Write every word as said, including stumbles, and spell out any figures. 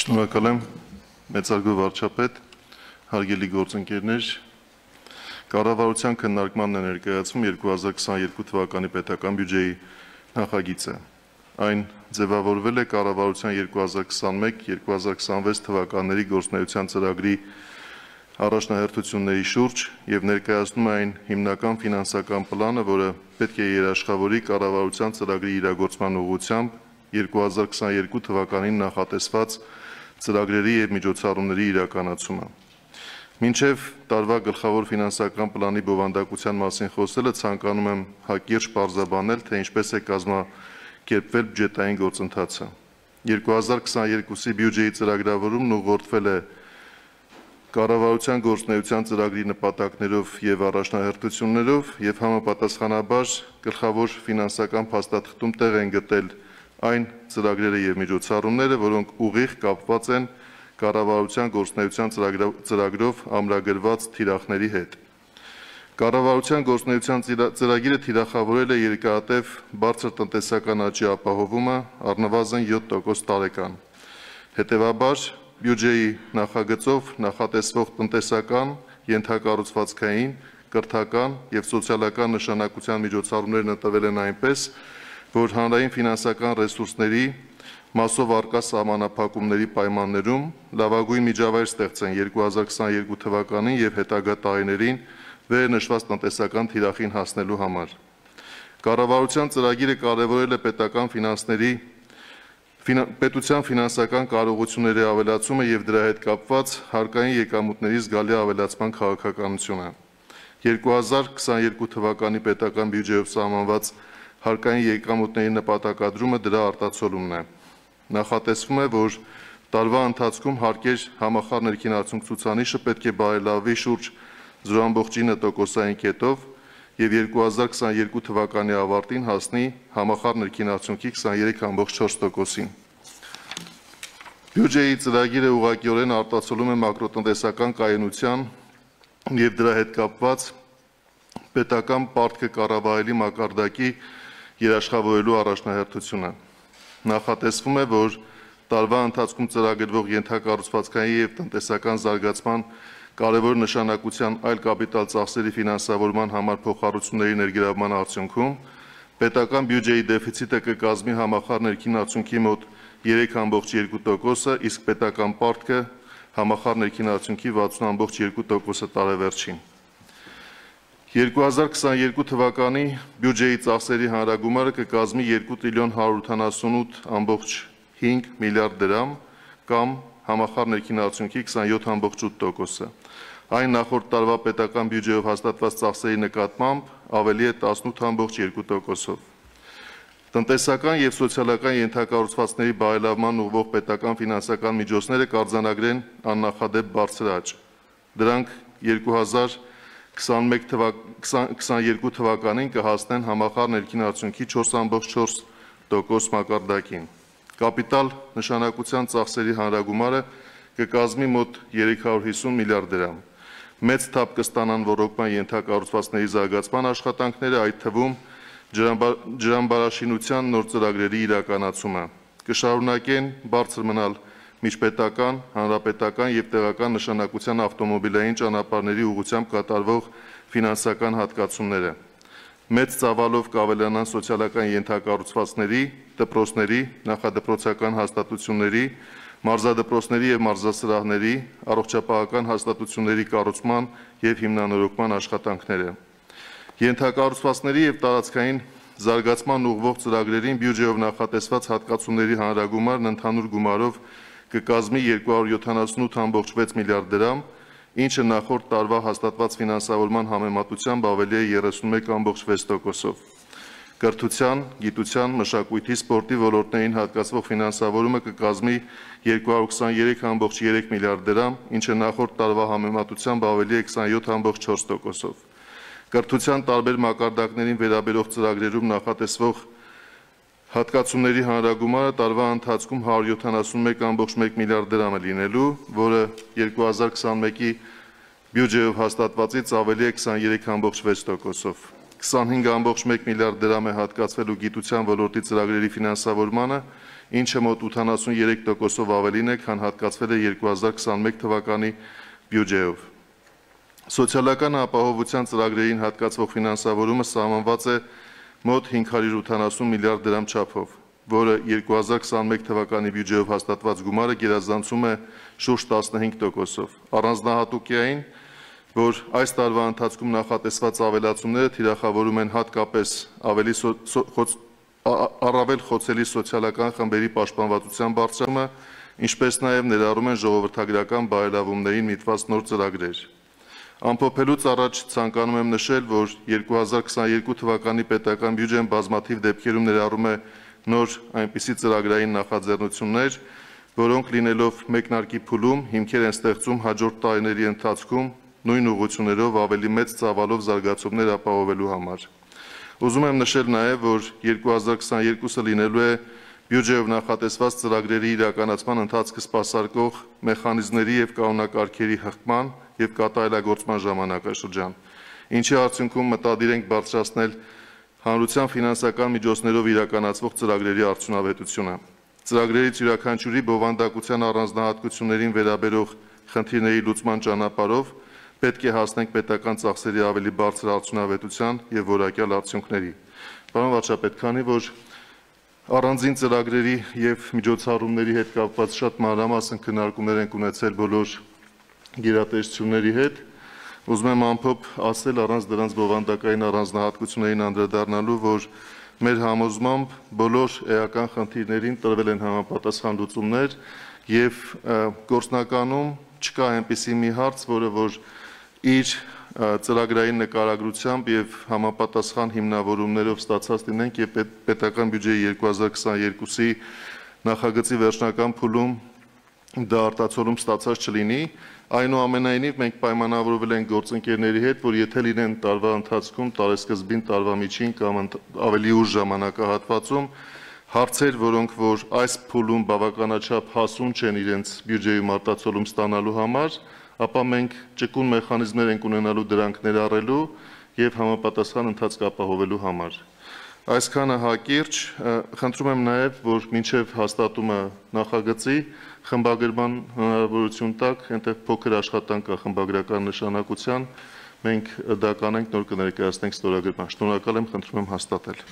Շնորհակալ եմ, մեծարգո վարչապետ, հարգելի գործընկերներ, կառավարության քննարկմանն է ներկայացվում երկու հազար քսաներկու թվականի պետական բյուջեի նախագիծը։ Այն ձևավորվել է կառավարության երկու հազար քսաներկու երկու հազար քսանվեց թվականների գործունեության ծրագրի առաջնահերթությունների շուրջ եւ ներկայացնում է այն հիմնական ֆինանսական պլանը, որը պետք է երաշխավորի կառավարության ծրագրի իրագործման ուղղությամբ երկու հազար քսաներկու թվականին նախատեսված ծրագրերի եւ միջոցառումների իրականացումը։ Մինչև տարվա գլխավոր ֆինանսական պլանի բովանդակության մասին խոսելը ցանկանում եմ հակիրճ պարզաբանել, թե ինչպես է կազմակերպվել բյուջետային գործընթացը։ երկու հազար քսաներկուսի բյուջեի ծրագրավորումն ուղղորդվել է կառավարության գործունեության ծրագրի նպատակներով եւ առաջնահերթություններով եւ համապատասխանաբար գլխավոր ֆինանսական փաստաթղթում տեղ են գտել այն ծրագրերը եւ միջոցառումները, որոնք ուղիղ կապված են կառավարության գործունեության ծրագրով ամրագրված թիրախների հետ։ Կառավարության գործունեության ծրագիրը թիրախավորել է երկարատև բարձր տնտեսական աճի ապահովումը առնվազն յոթ տոկոս տարեկան։ Հետևաբար բյուջեի նախագծով նախատեսվող տնտեսական, ենթակառուցվածքային, կրթական եւ սոցիալական նշանակության միջոցառումներն ընտրվել են այնպես, որ հանրային ֆինանսական ռեսուրսների մասով արկա սահմանափակումների պայմաններում լավագույն միջավայր ստեղծեն երկու հազար քսաներկու թվականին եւ հետագա տարիներին վերնշված տնտեսական թիրախին հասնելու համար։ Կառավարության ծրագիրը կարևորել է պետական ֆինանսների պետության ֆինանսական կարողությունների ավելացումը եւ դրա հետ կապված հարկային եկամուտների զգալի ավելացման քաղաքականությունը։ երկու հազար քսաներկու թվականի պետական բյուջեով սահմանված հարկային եկամուտների նպատակադրումը դրա արտացոլումն է։ Նախատեսվում է, որ տարվա ընթացքում հարկեր համախառն ներքին արդյունք ցուցանիշը պետք է բարելավվի շուրջ զրո ամբողջ ինը տոկոսային կետով եւ երկու հազար քսաներկու թվականի ավարտին հասնի համախառն ներքին արդյունքի քսաներեք ամբողջ չորս տոկոսին։ Բյուջեի ծրագիրը ուղղակիորեն արտացոլում է մակրոտնտեսական կայունության եւ դրա հետ կապված պետական պարտքը կառավարելի մակարդակի երաշխավորելու առաջնահերթությունը։ Նախատեսվում է, որ տարվա ընթացքում ծրագրվող ենթակառուցվածքային եւ տնտեսական զարգացման կարևոր նշանակության այլ կապիտալ ծախսերի ֆինանսավորման համար փոխառությունների ներգրավման արդյունքում պետական բյուջեի դեֆիցիտը կկազմի համախառն ներքին արդյունքի մոտ երեք ամբողջ երկու տոկոսը, իսկ պետական պարտքը համախառն ներքին արդյունքի վաթսուն ամբողջ երկու տոկոսը տարեվերջին։ երկու հազար քսաներկու թվականի բյուջեի ծախսերի հանրագումարը կկազմի երկու տրիլիոն հարյուր ութանասունութ ամբողջ հինգ միլիարդ դրամ կամ համախառն ներքին արդյունքի քսանյոթ ամբողջ ութ տոկոսը։ Այն նախորդ տարվա պետական բյուջեով հաստատված ծախսերի նկատմամբ ավելի է տասնութ ամբողջ երկու տոկոսով։ Տնտեսական եւ սոցիալական ենթակառուցվածքների բարելավման ուղղվող պետական ֆինանսական միջոցները կարձանագրեն աննախադեպ բարձր աճ։ Դրանք երկու հազար քսաներկու թվականին կհասնեն համախառն ներքին արդյունքի չորս ամբողջ չորս տոկոս մակարդակին։ Կապիտալ նշանակության ծախսերի հանրագումարը կկազմի մոտ երեք հարյուր հիսուն միլիարդ դրամ։ Մեծ թափ կստանան ռոռոկման ենթակառուցվածքների զարգացման աշխատանքները, այդ թվում ջրամբարաշինության նոր ծրագրերի իրականացումը։ Կշարունակեն բարձր մնալ միջպետական, հանրապետական եւ տեղական նշանակության ավտոմոբիլային ճանապարհների ուղղությամբ կատարվող ֆինանսական հատկացումները։ Մեծ ծավալով կավելանան սոցիալական ենթակառուցվածքների, դպրոցների, նախադպրոցական հաստատությունների, մարզադպրոցների եւ մարզասրահների, առողջապահական հաստատությունների կառուցման եւ հիմնանորոգման աշխատանքները։ Ենթակառուցվածքների եւ տարածքային զարգացման ուղղվող ծրագրերին բյուջեով նախատեսված հատկացումների հանրագումարն ընդհանուր գումարով կկազմի երկու հարյուր յոթանասունութ ամբողջ վեց միլիարդ դրամ, ինչը նախորդ տարվա հաստատված ֆինանսավորման համեմատությամբ ավելի է երեսունմեկ ամբողջ վեց տոկոսով։ Կրթության, գիտության, մշակույթի, սպորտի ոլորտներին հատկացվող ֆինանսավորումը կկազմի երկու հարյուր քսաներեք ամբողջ երեք միլիարդ դրամ, ինչը նախորդ տարվա համեմատությամբ ավելի է քսանյոթ ամբողջ չորս տոկոսով։ Կրթության տարբեր մակարդակներին վերաբերող ծրագրերում նախատեսվող հատկացումների հանրագումարը տարվա ընթացքում հարյուր յոթանասունմեկ ամբողջ մեկ միլիարդ դրամ է լինելու, որը երկու հազար քսաներկի բյուջեով հաստատվածից ավելի է քսաներեք ամբողջ վեց տոկոսով։ քսանհինգ ամբողջ մեկ միլիարդ դրամ է հատկացվելու գիտության ոլորտի ծրագրերի ֆինանսավորմանը, ինչը մոտ ութանասուներեք տոկոսով ավելին է, քան հատկացվել է երկու հազար քսաներեք թվականի բյուջեով։ Սոցիալական ապահովության ծրագրերին հատկացվող ֆինանսավորումը սահմանված է մոտ հինգ հարյուր ութանասուն միլիարդ դրամ չափով, որը երկու հազար քսաներեք թվականի բյուջեով հաստատված գումարը գերազանցում է շուրջ տասնհինգ տոկոսով։ Առանձնահատուկային, որ այս տարվա ընթացքում նախատեսված ավելացումները թիրախավորում են հատկապես ավելի առավել խոցելի սոցիալական խմբերի պաշտպանվածության բարձրացումը, ինչպես նաև ներառում են ժողովրդագրական բարելավումներին միտված նոր ծրագրեր։ Ամփոփելուց առաջ ցանկանում եմ նշել, որ երկու հազար քսաներկու թվականի պետական բյուջեն բազմաթիվ դեպքերում ներառում է նոր այնպիսի ծրագրային նախաձեռնություններ, որոնք լինելով մեկնարկի փուլում հիմքեր են ստեղծում հաջորդ տարիների ընթացքում նույն ուղղություններով ավելի մեծ ծավալով զարգացումներ ապահովելու համար։ Ուզում եմ նշել նաև, որ երկու հազար քսաներկուսը լինելու է բյուջեով նախատեսված ծրագրերի իրականացման ընթացքը սպասարկող մեխանիզմների և կանոնակարգերի հղկման և կատարելագործման ժամանակաշրջան, ինչի արդյունքում մտադիր ենք բարձրացնել հանրության ֆինանսական միջոցներով իրականացվող ծրագրերի արդյունավետությունը։ Ծրագրերից յուրաքանչյուրի բովանդակության առանձնահատկություններին վերաբերող խնդիրների լուծման ճանապարհով պետք է հասնենք պետական ծախսերի ավելի բարձր արդյունավետության և որակյալ արդյունքների։ Պարոն վարչապետ, քանի որ առանձին ծրագրերի և միջոցառումների հետ կապված շատ մանրամասն քննարկումներ ենք ունեցել բոլոր գերատեսչությունների հետ, ուզում եմ ամփոփ ասել առանց դրանց բովանդակային առանձնահատկություններին անդրադառնալու, որ մեր համոզմամբ բոլոր էական խնդիրներին տրվել են համապատասխան լուծումներ և գործնականում չկա այնպիսի մի հարց, որը որ իր ծրագրային նկարագրությամբ և համապատասխան հիմնավորումներով ստացած լինենք և պետական բյուջեի երկու հազար քսաներկուսի նախագծի վերջնական փուլում դա արտացոլում ստացած չլինի, այնուամենայնիվ մենք պայմանավորվել ենք գործընկերների հետ, որ եթե լինեն տարվա ընթացքում, տարեսկզբին, տարվա միջին կամ ավելի ուշ ժամանակահատվածում հարցեր, որոնք որ այս փուլում բավականաչափ հասուն չեն իրենց բյուջեում արտացոլում ստանալու համար, ապա մենք ճկուն մեխանիզմներ ենք ունենալու դրանք ներառելու և համապատասխան ընթացք ապահովելու համար։ Այսքանը հակիրճ, խնդրում եմ նաև, որ մինչև հաստատումը նախագծի խմբագրման հնարավորություն տաք, այնտեղ փոքր աշխատանք կա խմբագրական նշանակության, մենք դա կանենք, նոր կներկայացնենք ստորագրման։ Շնորհակալ եմ, խնդրում եմ հաստատել։